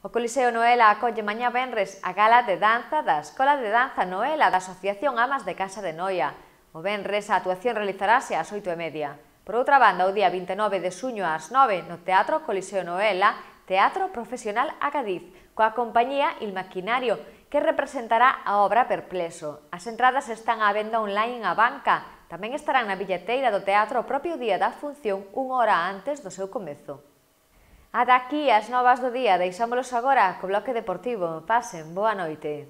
O Coliseo Noela acolle mañá venres a gala de danza da Escola de Danza Noela da Asociación Amas de Casa de Noia. O venres a actuación realizarase ás 8:30. Por outra banda, o día 29 de xuño ás 9 no Teatro Coliseo Noela, Teatro Profesional a Cádiz, coa compañía Il Maquinario, que representará a obra Perplexo. As entradas están á venda online en Abanca. Tamén estarán na billeteira do teatro o propio día da función, unha hora antes do seu comezo. Ata aquí as novas do día, deixámolos agora co bloque deportivo. Pasen, boa noite.